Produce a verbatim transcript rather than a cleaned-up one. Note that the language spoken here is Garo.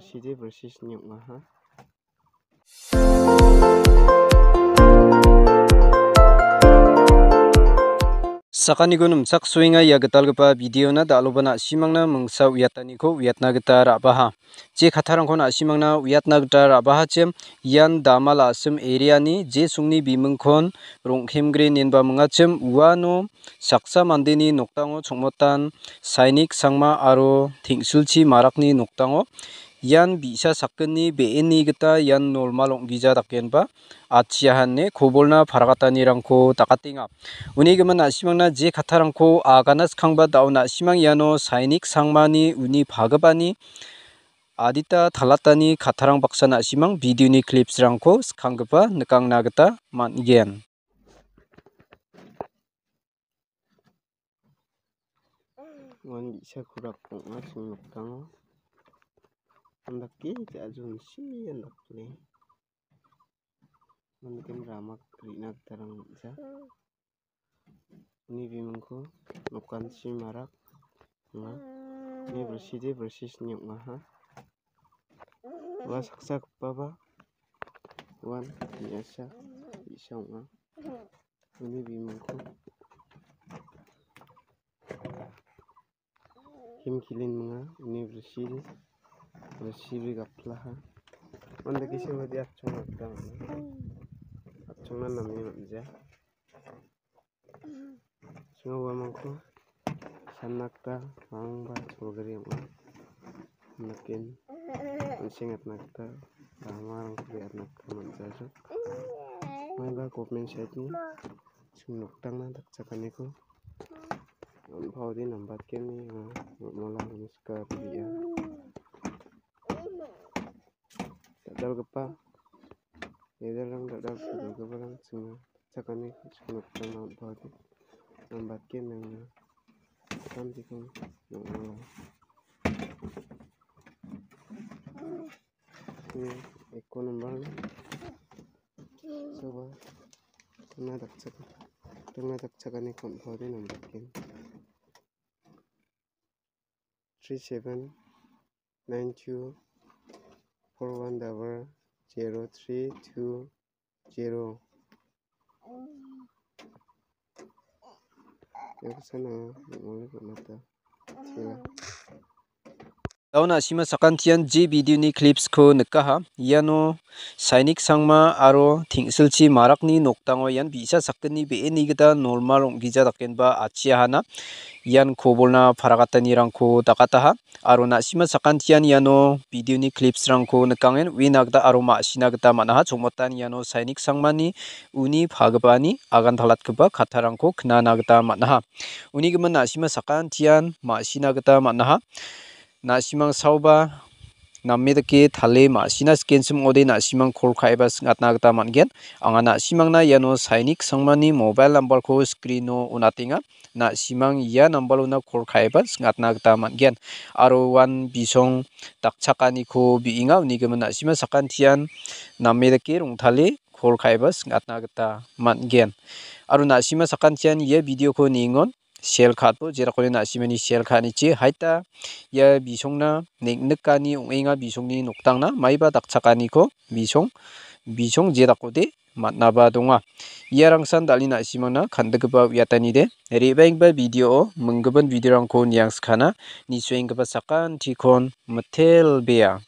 Side bersisni ong·aha. Sakaniko nimchaksoenga ia gitalgipa videona, dal·oba na·simangna mingsa uiataniko uiatna gita ra·baha. Je kattarangko na·simangna uiatna gita ra·bahachim, ian Damal a·sim areani je songni bimingkon Rongkhemgre inenba mingachim, uano saksa mandeni nokdango chongmotan Sainik Sangma aro Tengsilchi Marakni nokdango ian bi·sa sakgni be·eni gita ian normal ong·gija dakenba atchiaha ine kobolna paragatanirangko dakatenga. Uni gimin na·simangna je kattarangko agana skangba dao na·simang iano Sainik Sangmani uni pagipani adita talatani kattarang baksa na·simang videoni clipsrangko skanggipa nikangna gita man·gen. Uan bi·sa kurak ong·a ching nokdango. Andake ja·a jonsi andakle. Mandiken ramak re·na gitarang ong·ja. Uni bimingko Nokanchi Marak ong·a. Uni bilside bilsisni ong·aha. Ua saksa gipaba uan me·asa bi·sa ong·a. Uni bimingko Him Kilin minga, uni bilside bilside gaplaha. Uandake sebade atchongna gita man·a. Atchongna name man·ja. Sing·a uamangko sanna gita bangba cholgri ong·a. Naken an·seng atna gita ramarangko re·atna gita man·jajok. Maiba government side-ni ching nokdangna dakchakaniko on·paode nambatgen ine anga mola ine sika ri·a. Dal·dalgipa, dal·dalrang, dal·dalgipa, dal·dalgiparang ching·a. Chakani nokdangna on·paode nambatgen nangna samjikon nang·olo. Ia eko nombar soba tangna dakchak-, tangna dakchakani on·paode nambatgen. Three seven nine two four one double zero three two zero. Ia kesana ong·ode on·ata. Chela. Dao na·sima sakantian je videoni clipsko nikaha. Iano Sainik Sangma aro Tengsilchi Marakni nokdango ian bi·sa sakgni be·eni gita normal ong·gija dakenba atchiahana. Ian kobolna paragatanirangko dakataha. Aro na·sima sakantian iano videoni clipsrangko nikangen uina gita aro ma·sina gita man·aha. Chongmotan iano Sainik Sangmani uni pagipani agantalatgipa kattarangko knana gita man·aha. Uni gimin na·sima sakantian ma·sina gita man·aha. Na·simang saoba name dake tale ma·sina sikenchim ong·ode na·simang kol ka·eba sing·atna gita man·gen. Anga na·simangna iano Sainik Sangmani mobile numberko screeno on·atenga. Na·simang ia nambarona kol ka·eba sing·atna gita man·gen. Aro uan bisong dakchakaniko bi·enga, uni gimin na·sima sakantian name dake rongtale kol ka·eba sing·atna gita man·gen. Aro na·sima sakantian ia videoko niengon share ka·atbo, jerakode na·simani share ka·anichi. Haita ia bisongna neng·nikani ong·enga, bisongni nokdangna maiba dakchakaniko bisong, bisong jedakode man·aba donga. Iarangsan dal·e na·simangna kan·dikgipa uiatanide. Re·baenggipa videoo minggipa videorangko niangskana, nisuenggipa sakantikon mitelbea.